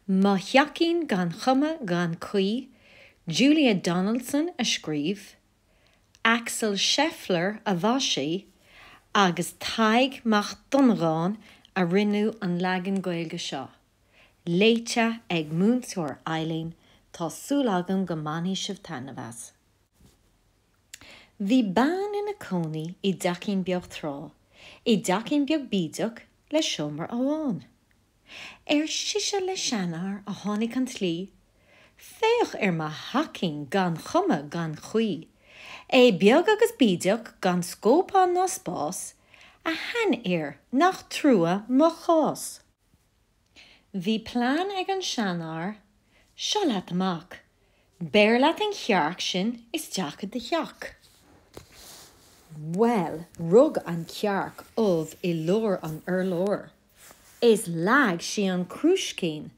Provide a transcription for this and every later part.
Mo Theachín Gan Chuma Gan Chaoi, Julia Donaldson a scríobh, Axel Scheffler a mhaisigh agus Tadhg Mac Dhonnagáin a rinne an leagan Gaeilge seo. Léite ag Múinteoir Eileen, tá súil agam go mbainfidh sibh taitneamh as. Bhí bean ina cónaí i dteachín beag tráth, i dteachín beag bídeach le seomra amháin. Ar sise le seanfhear a tháinig an tslí, Féach ar mo theachín gan chuma gan chaoi, É beag agus bídeach gan scóip ann ná spás, A sheanfhir, nach trua mo chás. Bhí plean ag an seanfhear, Seo leat amach, Beir leat an chearc sin isteach i do theach. Bhuel, rug an chearc ubh i lár an urláir. Is leag sí an crúiscín,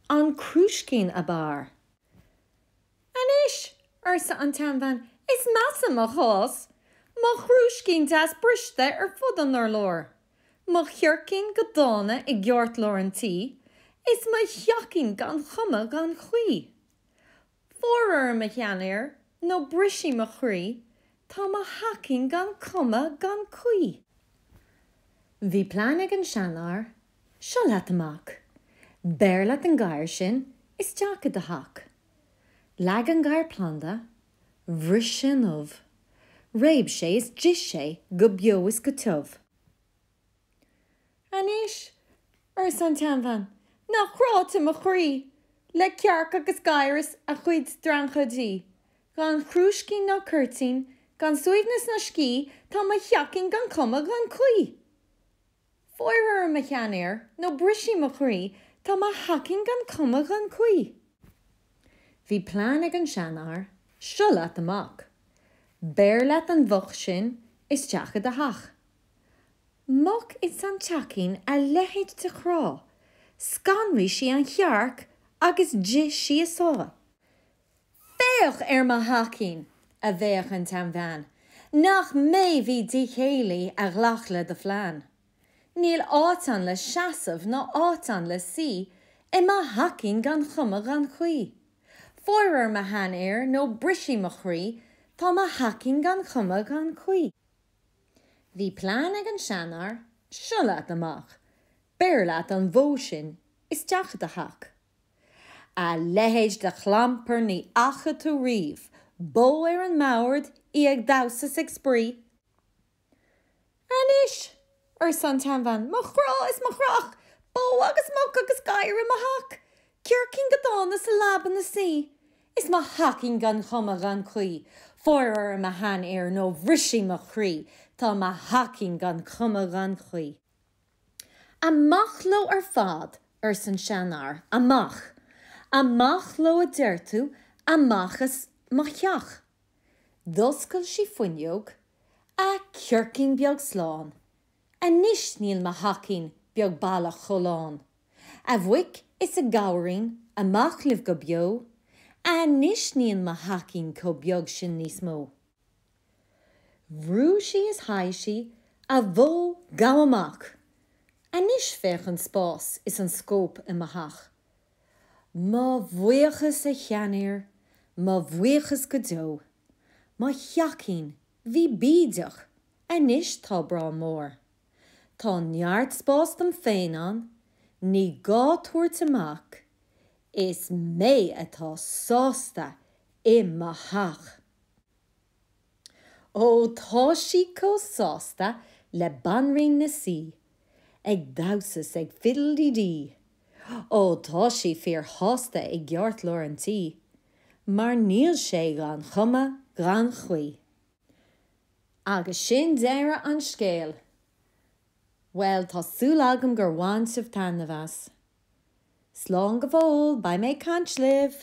an crúiscín ab fhearr. Anois, arsa an tseanbhean, is measa mo chás, mo chrúiscín deas briste ar fud an urláir, mo chircín go dána i gceartlár an tí, is mo theachín gan chuma gan chaoi. Fóir orm, a sheanfhir, nó brisfidh mo chroí, tá mo theachín gan cuma gan caoi. Bhí plean ag an seanfhear, seo leat amach, beir leat an gadhar sin isteach i do theach. Leag an gadhar planda, bhris sé an ubh, réab sé is d'ith sé go beo is go tiubh. Anois, arsa an tseanbhean, nach cráite mo chroí, le cearc agus gadhar is a chuid dreancaidí, gan chrúiscín ná cuirtín, gan suaimhneas ná scíth, tá mo theachín gan cuma gan chaoi. Fóir orm, a sheanfhir, nó brisfidh mo chroí, tá mo theachín gan cuma gan chaoi. Bhí plean ag an seanfhear, seo leat amach, beir leat an mhuc sin isteach i do theach. Muc ins an teachín a leithéid de chrá, scanraigh sí an chearc agus d'ith sí a sáith. Féach ar mo theachín! a bhéic an tseanbhean, nach mé bhí díchéillí a ghlac le do phlean. Níl áit ann le seasamh ná áit ann le suí i mo theachín gan chuma gan chaoi. Fóir orm a sheanfhir nó brisfidh mo chroí, tá mo theachín gan chuma gan chaoi. Bhí plean ag an seanfhear, seo leat amach, beir leat an bhó sin isteach i do theach. A leithéid de chlampar ní fhaca tú riamh, bó ar an mbord, í ag damhsa 's ag spraoi. Anois, arsa an tseanbhean, mo chrá is mo chreach, bó agus muc agus gadhar i mo theach, Circín go dána sa leaba 'na suí, Is mo theachín gan chuma gan chaoi, Fóir orm a sheanfhir nó bhrisfidh mo chroí, Tá mo theachín gan chuma gan chaoi. Amach leo ar fad, arsa an seanfhear, amach! Amach leo a deir tú, amach as mo theach! D'oscail sí fuinneog, a circín beag slán, Anois níl mo theachín beag baileach chomh lán. A mhuic is a ghabhairín, amach libh go beo, Anois níl mo theachín chomh beag sin níos mó. Bhrúigh sí is sháigh sí, a bhó, gabh amach! Anois féach an spás is an scóip i mo theach. Mo bhuíochas, a sheanfhir, mo bhuíochas go deo. Mo theachín, bhí bídeach, anois tá breá mór. Tá neart spás dom féin ann, ní gá tabhairt amach, is mé atá sásta i mo theach. Ó tá sí chomh sásta le banríon na sí, ag damhsa 's ag fiddle-dee-dee. Ó tá sí fíor shásta i gceartlár an tí, mar níl sé gan chuma gan chaoi. Agus sin deireadh an scéil. Bhuel, tá súil agam gur bhain sibh taitneamh as. Slán go fóill, beidh mé ag caint libh!